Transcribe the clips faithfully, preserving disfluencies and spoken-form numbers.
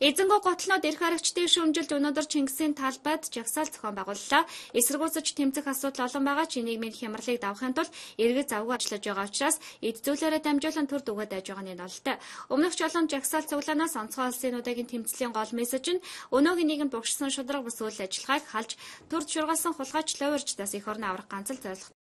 Эзэнгөө готлнууд эрх харагчдын шүүмжилд өнөөдөр Чингисийн талбайд жагсаал зохион байгууллаа. Эсэргүүцэж тэмцэх асуудал олон байгаа ч нийгмийн хямралыг давахын тулд эргэж завгүй ажиллаж байгаа учраас эд зүйлээрээ дамжуулан төр дүгээд байж байгаа нь нолтой. Өмнөх ч олон жагсаал цуглаанаас онцгой улсын удаагийн тэмцлийн гол мессеж нь өнөөгийн нийгэмд богшсон шударга бус үйл ажиллагааг халж төрд шургалсан хулгайч ловирчдаас эх орны аврах ганц л зорилго.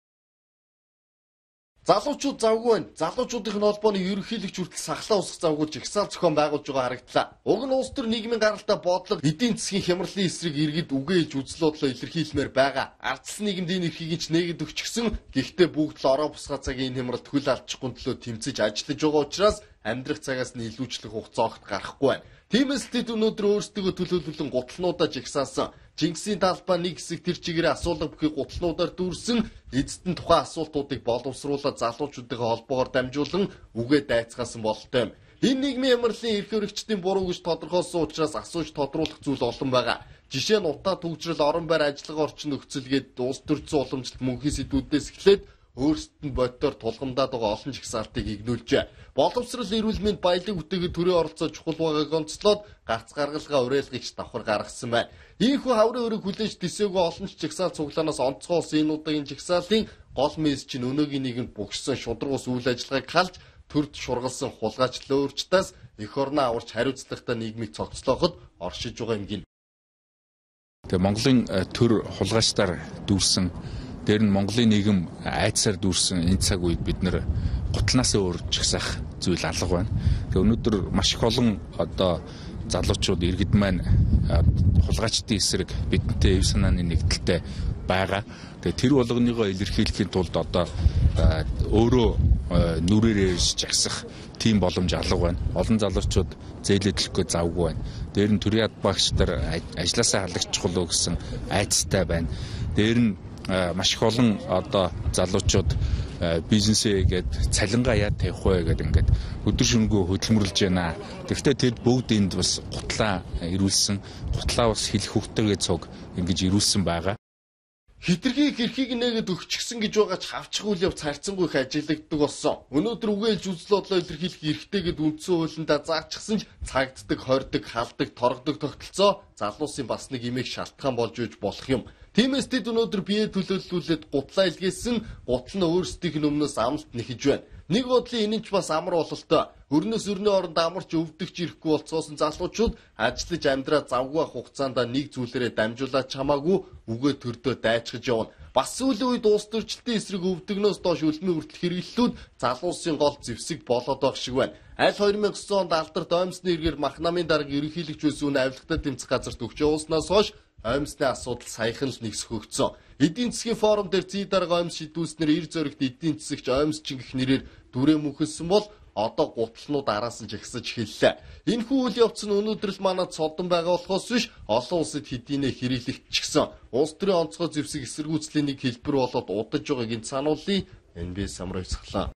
Залуучууд завгүй байна. Залуучуудын холбооны ерөнхийлөгч хүртэл сахлаа усах завгүй жагсаал зохион байгуулж байгаа харагдлаа. Уг нь улс төр нийгмийн гаралтай бодлого эдийн засгийн хямралын эсрэг иргэд үгээж үзлоодлоо илэрхийлмээр байгаа. Ардсан нийгэмд энэ эрхийг ч нэгэд өгчихсөн. Гэхдээ бүгд л ороо бусгай цагийн энэ хямралд хөл алдчихгүй төлөө тэмцэж ажиллаж байгаа учраас амьдрах цагаас нь илүүчлэх хугацаа огт гарахгүй байна. Тиймээс тэд өнөөдөр өөрсдөө төлөөлөлөн гутлнуудаа жигсаасан. Чингисийн талбай нэг хэсэг тэр чигээрээ асуулга бүхий гутлнуудаар дүүрсэн эцэст нь тухайн асуултуудыг боловсруулаад залуучуудынхаа холбоогоор дамжуулан үгээ дайцгаасан бололтой юм. Энэ нийгмийн хямралын эрх хөрөгчдийн буруу гэж тодорхойлсон учраас асууж тодруулах зүйл олон байгаа. Жишээ нь утаа түгжрэл, орон байр, ажиллагаа орчин нөхцөлгээд улс төрийн уламжлалт мөнхийн сэдвүүдээс эхлээд өөрсдөд нь боддоор тулгамдаад байгаа олон жагсаалтыг игнүүлжээ. Боловсрал, эрүүл мэнд, баялаг бүтээгээ төрийн оролцоо чухал байгааг онцлоод гарц гаргалгаа уриалгагч давхар гаргасан байна. Ийхүү хаврын өрөг хүлээж тэсээгүй олон ч жагсаал цуглаанаас онцгой улсын энэ удаагийн жагсаалтын гол мессеж нь өнөөгийн нийгэмд богшсон шударга ус үйл ажиллагааг халж төрд шургалсан хулгайч ловирчдаас эх орноо аварч хариуцлагатай нийгмийг цогцлооход оршиж байгаа юм гин. Тэгээ Монголын төр хулгайчдаар дүүрсэн, дээр нь Монголын нийгэм айдсаар дүүрсэн энэ цаг үед бид нэр гутлнаас өөр жагсаах зүйл алга байна. Тэгээ өнөөдөр маш их олон одоо залуучууд иргэд маань хулгайчдын эсрэг бидэнтэй эв санааны нэгдэлтэй байгаа. Тэгээ тэр болгоныгоо илэрхийлэхийн тулд одоо өөрөө нүрээрээ жагсах тийм боломж алга байна. Олон залуучууд зээлээ төлөхгүй завгүй байна. Дээр нь төрийн ад багш нар ажилласаа халагчих болов гэсэн айцтай байна. Дээр нь маш их олон одоо залуучууд бизнесээ гээд цалингаа яа тавих вэ гэдэг ингээд өдөр шөнөгүй хөдөлмөрлөж байна. Тэгэхдээ тэд бүгд энд бас гутлаа ирүүлсэн, гутлаа бас хэлэх хөвгтэйгээ цуг ингэж ирүүлсэн байгаа. Хитрхи хэрхийг нэгэд өгчихсэн гэж байгаа ч хавчих үйл явц харьцангуй их ажиглагддаг болсон. Өнөөдөр үгээлж үзлоодлоо илэрхийлэх эрхтэйгэд үндсэн хуулиндаа заачсан ч цагддаг, хордог, халдаг, торгодог тогтолцоо залуусын бас нэг имийг шалтгаан болж үйж болох юм. Тиймээс тэд өнөөдөр бие төлөөллүүлээд гутлаа илгээсэн, гутал нь өөрсдийнх нь өмнөөс амлалт нэхэж байна. Нэг бодлын энэ ч бас амар бололтой. Өрнөс өрний оронд амарч өвдөгч ирэхгүй болцоосон залуучууд ажиллаж амьдраа завгүй хугацаанд нэг зүйлээрээ дамжуулаад чамаагүй үгээ төрдөө дайчгаж явна. Бас сүүлийн үед улс төрчлөлтийн эсрэг өвдөгнөөс доош үлмийн хүртэл хэрэглэлүүд залуусын гол зэвсэг болоод байх шиг байна. Аль хоёр мянга и девять онд алдарт оймсны эргээр Махнамын дарга ерөнхийлөгч байсан үн авилгатай тэмцэх газарт өгч явуулснаас хойш оймсны асуудал саяхан л нэгсгөгдсөн. Эдийн засгийн форум дээр зүй дарга оймс шийдвүүлснээр эр зоригт эдийн засагч оймс чингэх нэрээр дүрээ мөнхөлсөн бол одоо гутлнууд араас нь жагсаж эхэллээ. Энэхүү үйл явц нь өнөөдөр л манад содон байгаа болохоос биш олон улсад хэдийнэ хэрэглэгдчихсэн. Улс төрийн онцгой зэвсэг эсэргүүцлийн нэг хэлбэр болоод удаж байгааг энэ сануулъя. эн би эс самрагцглаа.